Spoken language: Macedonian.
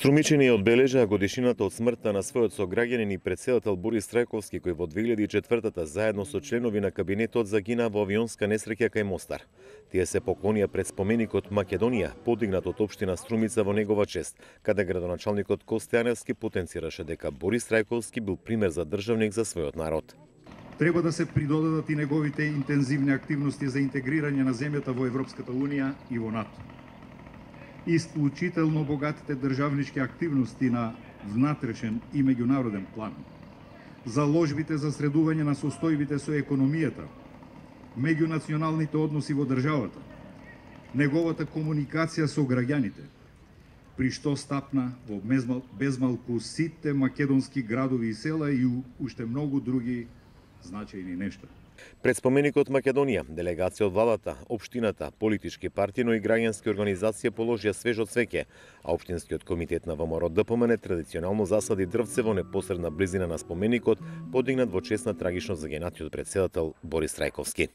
Струмичани одбележаа годишнината од смртта на својот сограѓанин и претседател Борис Трајковски, кој во 2004 заедно со членови на кабинетот загина во авионска несреќа кај Мостар. Тие се поклонија пред споменикот Македонија, подигнат од општина Струмица во негова чест, каде градоначалникот Косте Јаневски потенцираше дека Борис Трајковски бил пример за државник за својот народ. Треба да се придодадат и неговите интензивни активности за интегрирање на земјата во Европската Унија и во НАТО. Исклучително богатите државнички активности на внатрешен и меѓународен план, заложбите за средување на состојбите со економијата, меѓунационалните односи во државата, неговата комуникација со граѓаните, при што стапна во безмалку сите македонски градови и села и уште многу други значајни нешта. Пред споменикот Македонија, делегација од владата, општината, политички партии, но и граѓански организации положија свежо цвеќе, а општинскиот комитет на ВМРО ДПМН традиционално засади дрвце во непосредна близина на споменикот, подигнат во чест на трагично загинатиот претседател Борис Трајковски.